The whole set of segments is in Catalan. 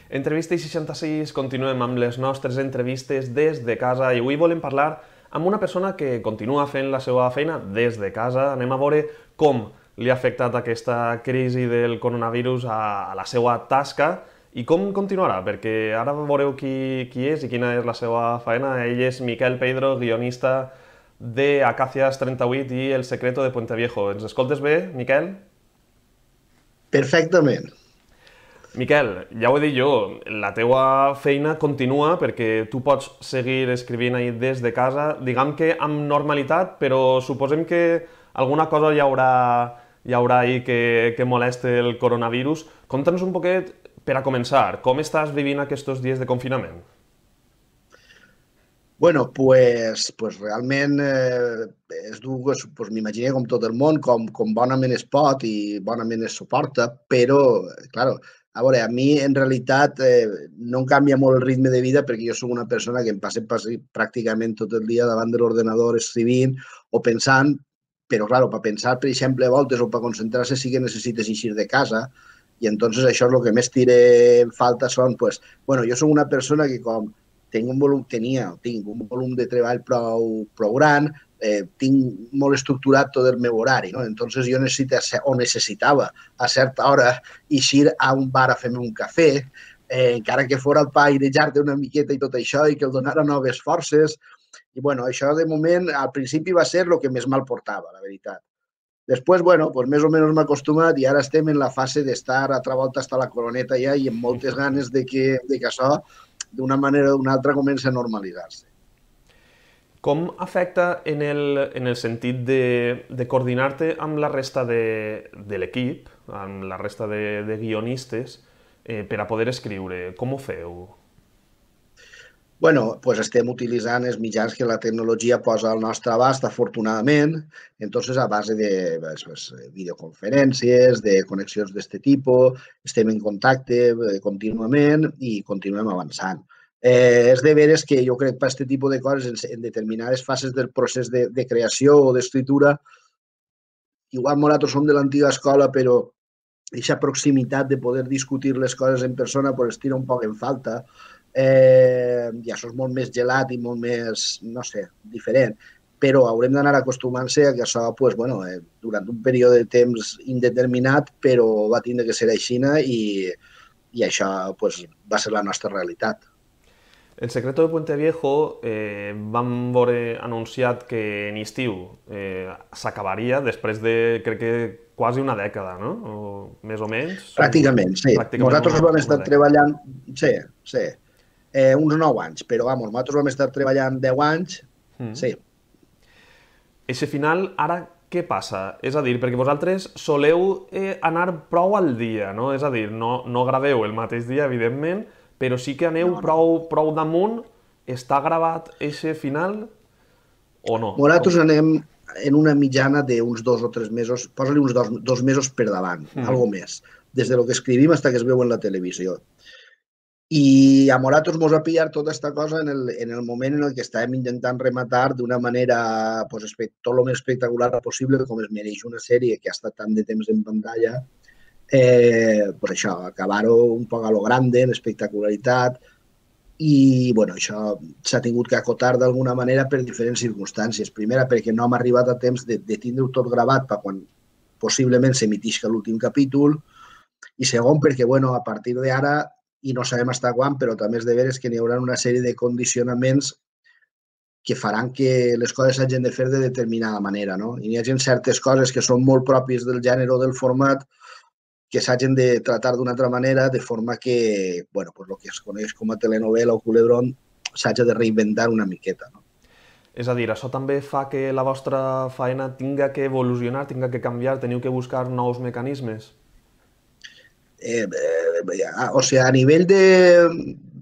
Entrevista 66, continuem amb les nostres entrevistes des de casa i avui volem parlar amb una persona que continua fent la seva feina des de casa. Anem a veure com li ha afectat aquesta crisi del coronavirus a la seva tasca i com continuarà, perquè ara veureu qui és i quina és la seva feina. Ell és Miquel Pedro, guionista de Acacias 38 i El secreto de Puente Viejo. Ens escoltes bé, Miquel? Perfectament. Miquel, ja ho he dit jo, la teua feina continua perquè tu pots seguir escrivint ahir des de casa, diguem que amb normalitat, però suposem que alguna cosa hi haurà ahir que moleste el coronavirus. Conta'ns un poquet, per a començar, com estàs vivint aquests dies de confinament? Bueno, pues realment és dur, pues, m'imagino com tot el món, com bonament es pot i bonament es suporta, però, claro, a veure, a mi en realitat no em canvia molt el ritme de vida perquè jo sóc una persona que em passa pràcticament tot el dia davant de l'ordenador escrivint o pensant, però, claro, per pensar, per exemple, a voltes o per concentrar-se sí que necessites eixir de casa i entonces això és el que més tira en falta són, pues, bueno, jo sóc una persona que com tinc un volum de treball prou gran, tinc molt estructurat tot el meu horari, no? Entonces jo necessitava a certa hora eixir a un bar a fer-me un cafè, encara que fora el pa airejar-te una miqueta i tot això i que el donara noves forces. I bueno, això de moment al principi va ser el que més mal portava, la veritat. Després, bueno, pues més o menys m'he acostumat i ara estem en la fase d'estar a altra volta hasta la coroneta ja i amb moltes ganes de que això d'una manera o d'una altra comença a normalitzar-se. Com afecta en el sentit de coordinar-te amb la resta de l'equip, amb la resta de guionistes, per a poder escriure? Com ho feu? Bueno, pues estem utilitzant els mitjans que la tecnologia posa al nostre abast, afortunadament, entonces a base de pues, videoconferències, de connexions d'aquest tipus, estem en contacte contínuament i continuem avançant. És de veres que jo crec que per aquest tipus de coses, en determinades fases del procés de creació o d'escriptura, igual nosaltres som de l'antiga escola, però aquesta proximitat de poder discutir les coses en persona pues, es tira un poc en falta. I això és molt més gelat i molt més, no sé, diferent. Però haurem d'anar acostumant-se a que això, pues, bueno, durant un període de temps indeterminat, però va tindre que ser així i això pues, va ser la nostra realitat. El secreto de Puente Viejo vam veure anunciat que en estiu s'acabaria després de, crec que, quasi una dècada, no? O, més o menys? Pràcticament, sí. Pràcticament Nosaltres vam una estar dècada. treballant, sí, sí, uns 9 anys, però vamos, nosaltres vam estar treballant 10 anys, sí. Eixe final, ara què passa? És a dir, perquè vosaltres soleu anar prou al dia, no? És a dir, no graveu el mateix dia, evidentment, però sí que aneu No, no. prou damunt. Està gravat eixe final o no? Nosaltres anem en una mitjana d'uns 2 o 3 mesos, posa-li uns 2 mesos per davant, algo més, des de lo que escrivim fins que es veu en la televisió. I a Moratos mos ha pillat tota aquesta cosa en el moment en el que estàvem intentant rematar d'una manera pues, tot el més espectacular possible, com es mereix una sèrie que ha estat tant de temps en pantalla, pues això, acabar-ho un poc a lo grande, en espectacularitat, i bueno, això s'ha tingut que acotar d'alguna manera per diferents circumstàncies. Primera, perquè no hem arribat a temps de tindre-ho tot gravat per quan possiblement s'emitisca l'últim capítol, i segon, perquè bueno, a partir d'ara, i no sabem fins quan, però també és de veres que n'hi haurà una sèrie de condicionaments que faran que les coses s'hagin de fer de determinada manera, no? I hi ha certes coses que són molt pròpies del gènere o del format que s'hagin de tractar d'una altra manera, de forma que, bueno, pues el que es coneix com a telenovela o culebrón s'hagi de reinventar una miqueta, no? És a dir, això també fa que la vostra feina tinga que evolucionar, tinga que canviar, teniu que buscar nous mecanismes? O sigui, a nivell de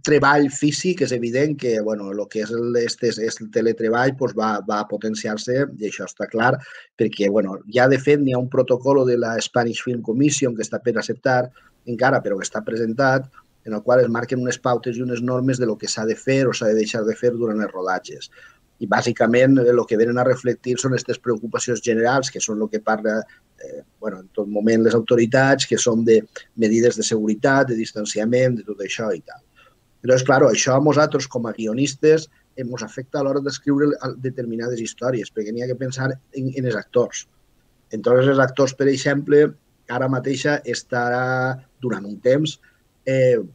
treball físic és evident que bueno, el que és el teletreball pues, va a potenciar-se i això està clar perquè bueno, ja de fet n'hi ha un protocol de la Spanish Film Commission que està per acceptar encara però que està presentat en el qual es marquen unes pautes i unes normes de lo que s'ha de fer o s'ha de deixar de fer durant els rodatges. I bàsicament el que venen a reflectir són aquestes preocupacions generals que són el que parla en tot moment les autoritats, que són de medides de seguretat, de distanciament, de tot això i tal. Llavors, clar, això a nosaltres, com a guionistes, ens afecta a l'hora d'escriure determinades històries, perquè n'hi ha que pensar en els actors. Entre els actors, per exemple, ara mateixa estarà, durant un temps,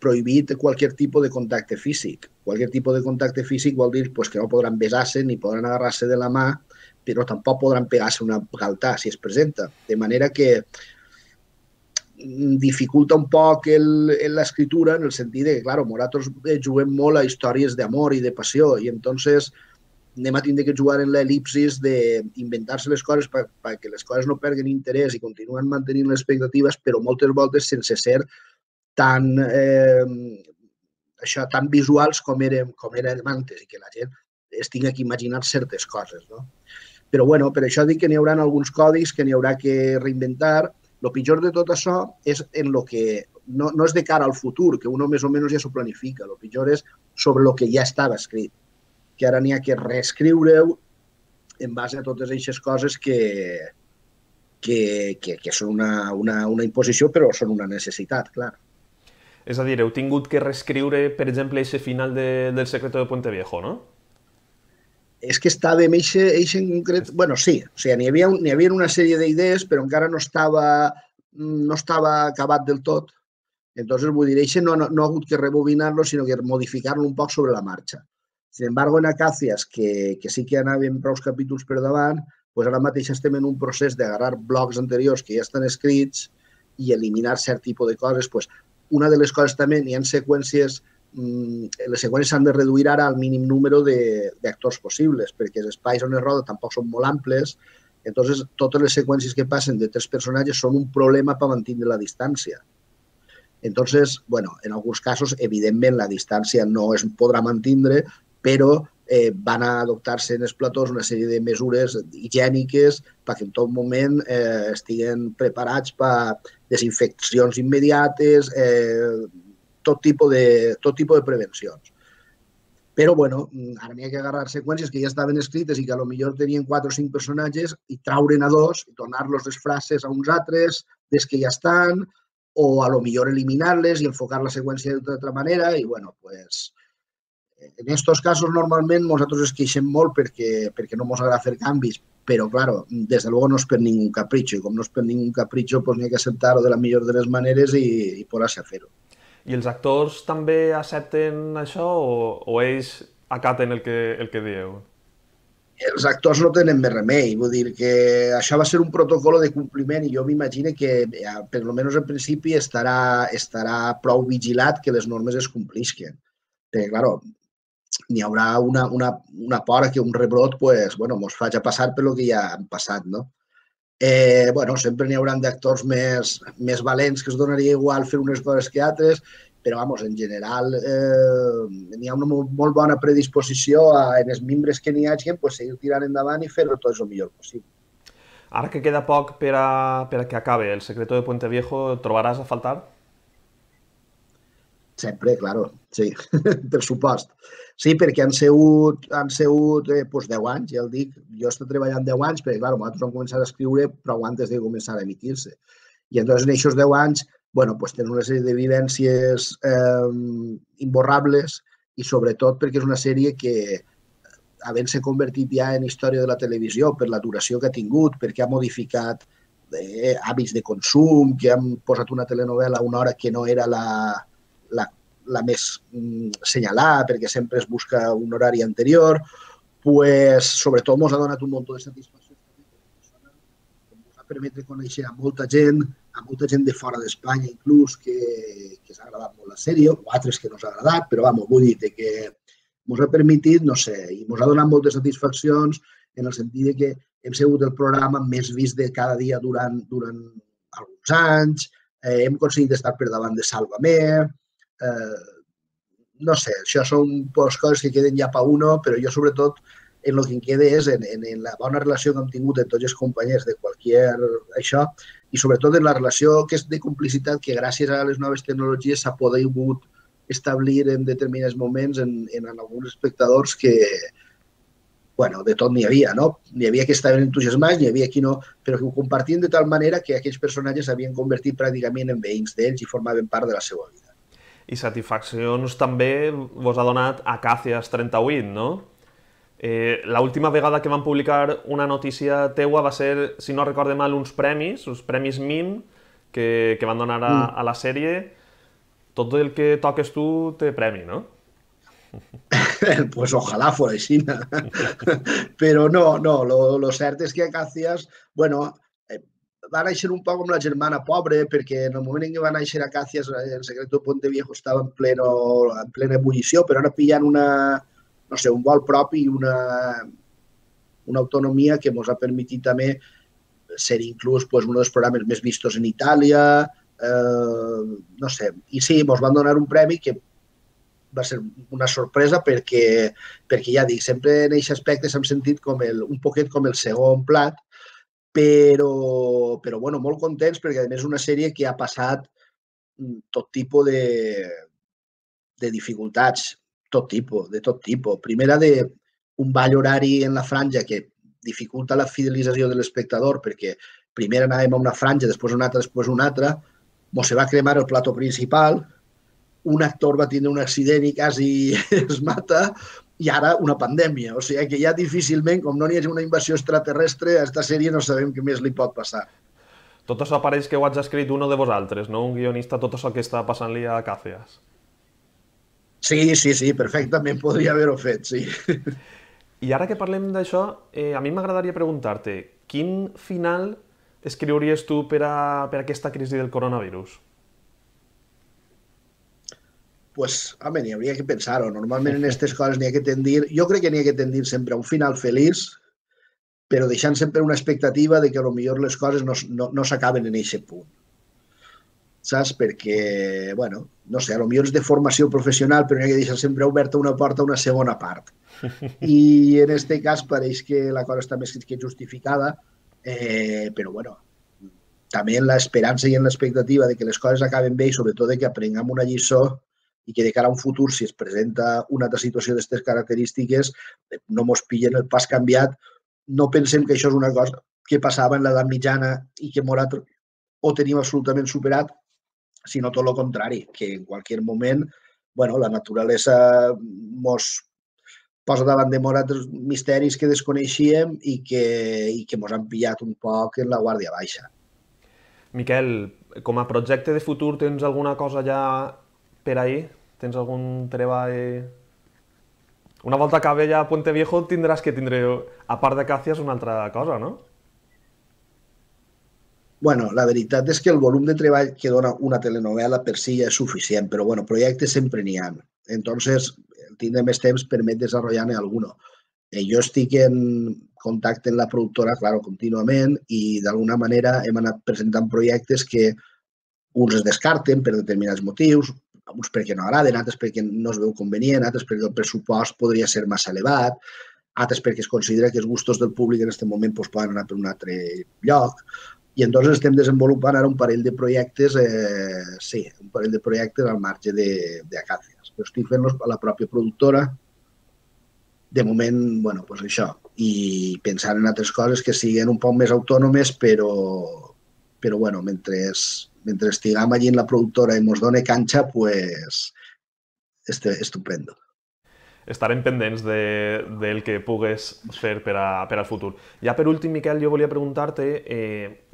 prohibit qualsevol tipus de contacte físic. Qualsevol tipus de contacte físic vol dir que no podran besar-se ni podran agarrar-se de la mà, però tampoc podran pegar-se una galtà si es presenta. De manera que dificulta un poc l'escriptura en el sentit que, clar, nosaltres juguem molt a històries d'amor i de passió i entonces anem a tindre que jugar en l'elipsis d'inventar-se les coses perquè les coses no perden interès i continuen mantenint les expectatives, però moltes voltes sense ser tan visuals com érem antes i que la gent es tingui que imaginar certes coses. Però bueno, per això dic que n'hi haurà alguns codis que n'hi haurà que reinventar. El pitjor de tot això és en el que no és de cara al futur, que uno més o menys ja s'ho planifica. El pitjor és sobre el que ja estava escrit, que ara n'hi ha que reescriure-ho en base a totes aquestes coses que són una imposició, però són una necessitat, clar. És a dir, heu tingut que reescriure, per exemple, aquest final del Secreto de Puente Viejo, no? És que estàvem en concret... Bueno, sí, o sigui, n'hi havia una sèrie d'idees, però encara no estava acabat del tot. Entonces, vull dir, no ha hagut que rebobinar-lo, sinó que modificar-lo un poc sobre la marxa. Sin embargo, en Acacias, que sí que anàvem prou capítols per davant, doncs ara mateix estem en un procés d'agarrar blocs anteriors que ja estan escrits i eliminar cert tipus de coses. Una de les coses també, hi ha seqüències, les seqüències s'han de reduir ara al mínim número d'actors possibles, perquè els espais on es roda tampoc són molt amples, entonces totes les seqüències que passen de 3 personatges són un problema per mantenir la distància. Entonces, bueno, en alguns casos, evidentment, la distància no es podrà mantenir, però van a adoptar-se en els platós una sèrie de mesures higièniques perquè en tot moment estiguen preparats per desinfeccions immediates, tot tipus de prevencions. Però, bueno, ara n'hi ha que agarrar seqüències que ja estaven escrites i que potser tenien 4 o 5 personatges i traure'n a 2 i donar-los les frases a uns altres des que ja estan, o a lo millor eliminar-les i enfocar la seqüència d'altra manera. I, bueno, pues, en aquests casos, normalment, nosaltres es queixem molt perquè no ens agrada fer canvis, però, claro, des de luego no és per ningú capritxo, i com no és per ningú capritxo, pues n'hi ha que acceptar-ho de la millor de les maneres i posar-se a fer-ho. I els actors també accepten això o ells acaten el que dieu? Els actors no tenen més remei, vull dir que això va ser un protocol de compliment i jo m'imagino que, per almenys en principi, estarà prou vigilat que les normes es complisquen. Perquè, clar, n'hi haurà una por que un rebrot ens faci passar per el que ja han passat, no? Sempre n'hi haurà d'actors més valents que es donaria igual fer unes coses que altres, però, en general, n'hi ha una molt bona predisposició en els membres que n'hi hagi, seguir tirant endavant i fer-ho tot el millor possible. Ara que queda poc per a que acabe El Secreto de Puente Viejo, trobaràs a faltar? Sempre, claro, sí, per supost. Sí, perquè han sigut 10 anys, ja el dic. Jo estic treballant 10 anys, perquè, clar, nosaltres vam començar a escriure prou antes de començar a emitir-se. I entonces, en aquests 10 anys, tenen una sèrie de vivències imborrables i, sobretot, perquè és una sèrie que, havent-se convertit ja en història de la televisió per la duració que ha tingut, perquè ha modificat hàbits de consum, que han posat una telenovela a una hora que no era la més senyalada, perquè sempre es busca un horari anterior, sobretot ens ha donat un munt de satisfacció. Ens ha permès conèixer a molta gent de fora d'Espanya, inclús, que s'ha agradat molt la sèrie, o altres que no s'ha agradat, però vull dir que ens ha permetit, no sé, i ens ha donat moltes satisfaccions en el sentit que hem sigut el programa més vist de cada dia durant alguns anys, hem aconseguit estar per davant de Sálvame, no sé, això són coses que queden ja per uno, però jo sobretot en el que em queda és en la bona relació que hem tingut amb tots els companys de això i sobretot en la relació que és de complicitat que gràcies a les noves tecnologies s'ha pogut establir en determinats moments en alguns espectadors que bueno, de tot n'hi havia, no? N'hi havia que estaven entusiasmats, n'hi havia qui no, però que ho compartien de tal manera que aquells personatges s'havien convertit pràcticament en veïns d'ells i formaven part de la seva vida. I satisfaccions també vos ha donat Acacias 38, no? L'última vegada que van publicar una notícia teua va ser, si no recorde mal, uns premis MIM que van donar a la sèrie. Tot el que toques tu té premi, no? Pues ojalá fuera així. Però no, lo cert és que Acacias, bueno, va néixer un poc com la germana pobra, perquè en el moment en què va néixer Acacias, el Secreto de Puente Viejo estava en plena ebullició, però ara pillant no sé, un vol propi i una autonomia que ens ha permès també ser inclús pues, un dels programes més vistos en Itàlia, no sé. I sí, ens van donar un premi que va ser una sorpresa perquè ja dic, sempre en aquest aspecte s'hem sentit com un poquet com el segon plat, però bueno, molt contents perquè a més és una sèrie que ha passat tot tipus de dificultats, de tot tipus. Primera, un ball horari en la franja que dificulta la fidelització de l'espectador perquè primer anàvem a una franja, després una altra, després una altra, ens se va cremar el plató principal, un actor va tindre un accident i quasi es mata, i ara una pandèmia. O sigui que ja difícilment, com no n'hi hagi una invasió extraterrestre, a aquesta sèrie no sabem què més li pot passar. Tot això pareix que ho haig escrit uno de vosaltres, no? Un guionista, tot això que està passant-li a Acacias. Sí, perfectament podria haver-ho fet, sí. I ara que parlem d'això, a mi m'agradaria preguntar-te, quin final escriuries tu per a aquesta crisi del coronavirus? Pues, home, n'hi hauria que pensar-ho. Normalment en aquestes coses n'hi ha que tendir... Jo crec que n'hi ha que tendir sempre a un final feliç, però deixant sempre una expectativa de que potser les coses no s'acaben en aquest punt. Saps? Perquè, bueno, no sé, potser és de formació professional, però n'hi ha que deixar sempre oberta una porta a una segona part. I en aquest cas pareix que la cosa està més que justificada, però, bueno, també en l'esperança i en l'expectativa de que les coses acaben bé i sobretot de que aprenguem una lliçó i que de cara a un futur, si es presenta una altra situació d'aquestes característiques, no mos pillen el pas canviat. No pensem que això és una cosa que passava en l'edat mitjana i que ho tenim absolutament superat, sinó tot el contrari, que en qualsevol moment bueno, la naturalesa mos posa davant de altres misteris que desconeixíem i que mos han pillat un poc en la guàrdia baixa. Miquel, com a projecte de futur tens alguna cosa ja per ahir? Tens algun treball... Una volta acabe ja Puente Viejo tindràs que tindre, a part d'Acacias, una altra cosa, no? Bueno, la veritat és que el volum de treball que dona una telenovela per si ja és suficient, però bueno, projectes sempre n'hi ha. Entonces, tindre més temps permet desenvolupar-ne alguno. Jo estic en contacte amb la productora, claro, contínuament, i d'alguna manera hem anat presentant projectes que uns es descarten per determinats motius, uns perquè no agraden, altres perquè no es veu convenient, altres perquè el pressupost podria ser massa elevat, altres perquè es considera que els gustos del públic en aquest moment poden anar per un altre lloc. I entonces estem desenvolupant ara un parell de projectes, un parell de projectes al marge d'Acacias. Però estic fent-los a la pròpia productora, de moment, bueno, doncs això, i pensant en altres coses que siguin un poc més autònomes, però bueno, mentre estiguem allí en la productora i ens doni canxa, pues, estupendo. Estarem pendents del que pugues fer per al futur. Ja per últim, Miquel, jo volia preguntar-te,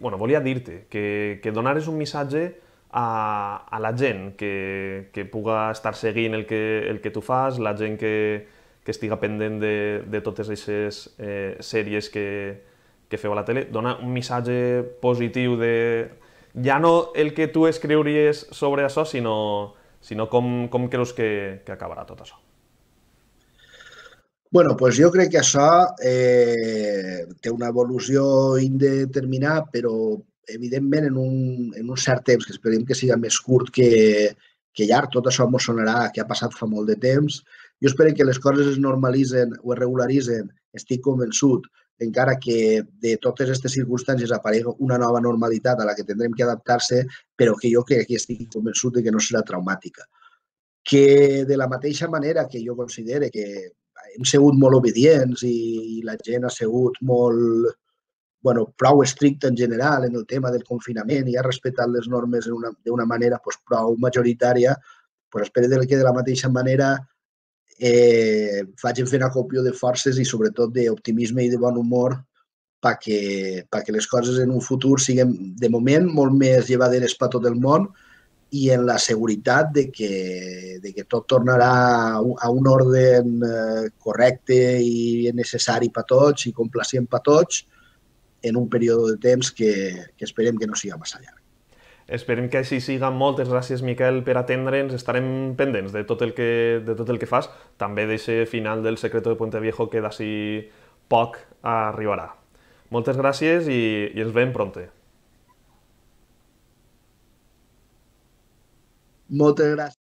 volia dir-te que donares un missatge a la gent que puga estar seguint el que tu fas, la gent que estiga pendent de totes aquestes sèries que feu a la tele, dona un missatge positiu de... Ja no el que tu escriuries sobre això, sinó com creus que acabarà tot això. Bueno, doncs jo crec que això té una evolució indeterminada, però evidentment en un cert temps, que esperem que siga més curt que llarg, tot això ens sonarà que ha passat fa molt de temps. Jo espero que les coses es normalitzen o es regularitzen, estic convençut, encara que de totes aquestes circumstàncies aparegui una nova normalitat a la que tindrem que adaptar-se, però que jo crec que estic convençut que no serà traumàtica. Que de la mateixa manera que jo considero que hem sigut molt obedients i la gent ha sigut molt, bueno, prou estricta en general en el tema del confinament i ha respectat les normes d'una manera pues, prou majoritària, pues espero que de la mateixa manera vagin fent acopio de forces i sobretot d'optimisme i de bon humor perquè les coses en un futur siguin, de moment, molt més llevaderes per tot el món i en la seguretat de que tot tornarà a un ordre correcte i necessari per tots i complacient per tots en un període de temps que esperem que no siga massa llarg. Esperem que així siga. Moltes gràcies, Miquel, per atendre'ns. Estarem pendents de tot el que fas. També d'aquest final del Secreto de Puente Viejo que d'ací poc arribarà. Moltes gràcies i ens veiem pronte. Moltes gràcies.